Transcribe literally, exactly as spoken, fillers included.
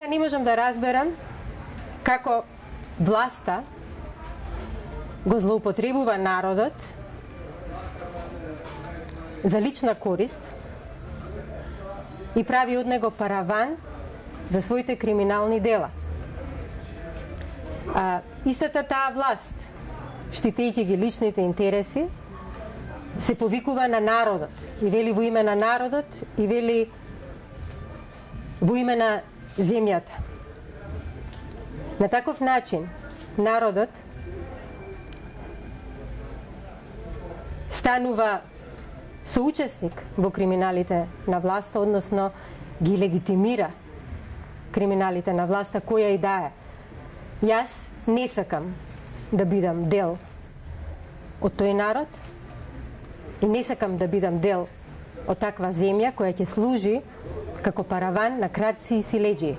Не можам да разберам како власта го злоупотребува народот за лична корист и прави од него параван за своите криминални дела. А, истата таа власт, штитејќи ги личните интереси, се повикува на народот и вели во име на народот и вели во име на земјата. На таков начин народот станува соучесник во криминалите на власта, односно ги легитимира криминалите на власта која и да е. Јас не сакам да бидам дел од тој народ и не сакам да бидам дел од таква земја која ќе служи како параван на крадци и силеџии.